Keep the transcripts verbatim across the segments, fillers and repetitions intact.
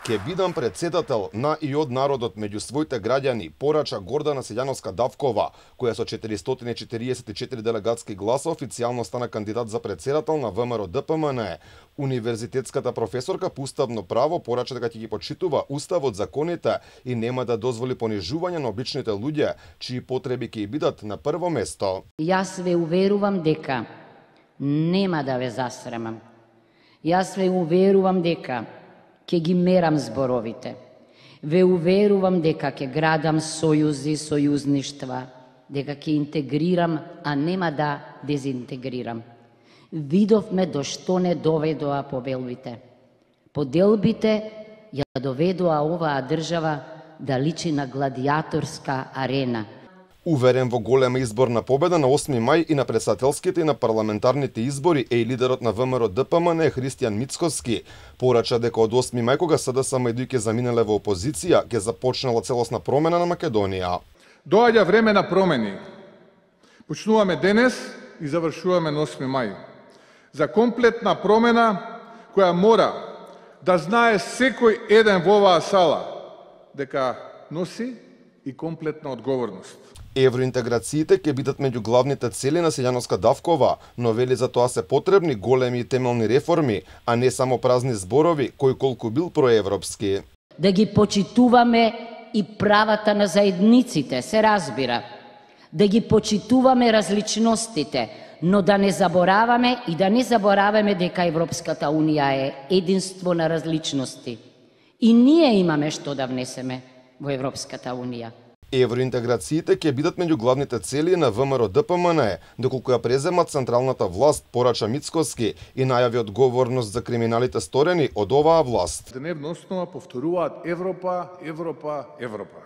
Ке бидам председател на и од народот меѓу своите граѓани, порача Гордана Силјановска-Давкова, која со четиристотини и четириесет и четири делегатски гласа официјално стана кандидат за председател на ВМРО-ДПМН. Универзитетската професорка по уставно право порача дека ќе ги почитува уставот, законите и нема да дозволи понижување на обичните луѓе, чии потреби ќе бидат на прво место. Јас ве уверувам дека нема да ве засрамам. Јас ве уверувам дека ќе ги мерам зборовите. Ве уверувам дека ќе градам сојузи, сојузништва, дека ќе интегрирам, а нема да дезинтегрирам. Видовме до што не доведоа побелбите. Поделбите ја доведоа оваа држава да личи на гладиаторска арена. Уверен во голема изборна победа на осми мај и на претседателските и на парламентарните избори е и лидерот на ВМРО-ДПМН Христијан Мицкоски. Порача дека од осми мај, кога СДСМ и ДУИ заминале во опозиција, ќе започнала целосна промена на Македонија. Доаѓа време на промени. Почнуваме денес и завршуваме на осми мај. За комплетна промена која мора да знае секој еден во оваа сала дека носи и комплетна одговорност. Евроинтеграциите ќе бидат меѓу главните цели на Силјановска-Давкова, но вели за тоа се потребни големи и темелни реформи, а не само празни зборови, кој колку бил проевропски. Да ги почитуваме и правата на заедниците, се разбира. Да ги почитуваме различностите, но да не забораваме и да не забораваме дека Европската Унија е единство на различности. И ние имаме што да внесеме во Европската Унија. Евроинтеграциите ќе бидат меѓу главните цели на ВМРО-ДПМН, доколку ја преземат централната власт, порача Мицкоски и најави одговорност за криминалите сторени од оваа власт. Дневна основа повторуваат Европа, Европа, Европа.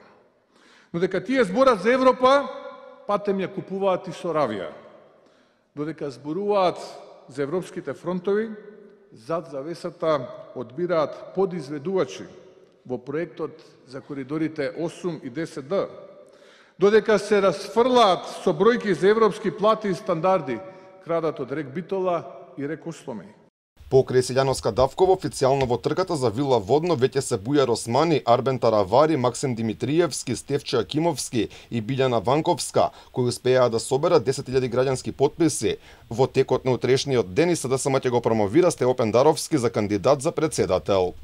Но дека тие зборат за Европа, патем ја купуваат и со равија. Додека зборуваат за европските фронтови, зад завесата одбираат подизведувачи во проектот за коридорите осум и десет Д, додека се расфрлаат со бројки за европски плати и стандарди, крадат од рек Битола и рек Осломеј. Покрај Силјановска-Давкова официјално во трката за Вила Водно веќе се Бујар Османи, Арбен Таравари, Максим Димитриевски, Стефче Акимовски и Билјана Ванковска, кои успеаа да соберат десет илјади граѓански потписи. Во текот на утрешниот ден и СДСМ ќе го промовира Стеопен Даровски за кандидат за председател.